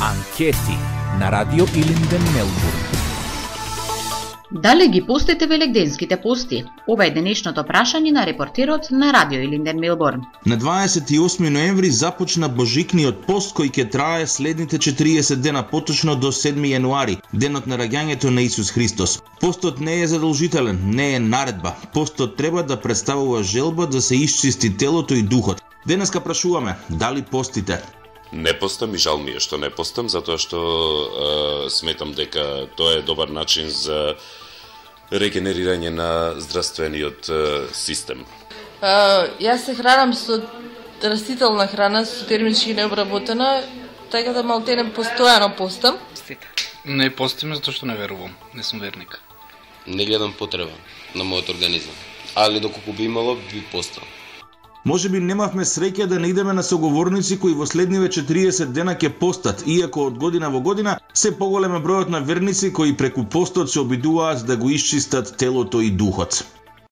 Анкети на Радио Илинден, Мелбурн. Дали ги постите велигденските пости? Ова е денешното прашање на репортерот на Радио Илинден, Мелбурн. На 28 ноември започна Божикниот пост кој ќе трае следните 40 дена, поточно до 7 јануари, денот на раѓањето на Исус Христос. Постот не е задолжителен, не е наредба. Постот треба да представува желба да се исчисти телото и духот. Денеска прашуваме, дали постите? Не постам и жал ми е што не постам, затоа што сметам дека тоа е добар начин за регенерирање на здравствениот систем. Јас се хранам со растителна храна, со термички необработена, така да малтене постојано постам. Не постим затоа што не верувам, не сум верник. Не гледам потреба на мојот организам, али доколку би имало, би постал. Може би немавме среќа да не идеме на соговорници кои во следниве 40 дена ќе постат, иако од година во година се поголем е бројот на верници кои преку постот се обидуваат да го исчистат телото и духот.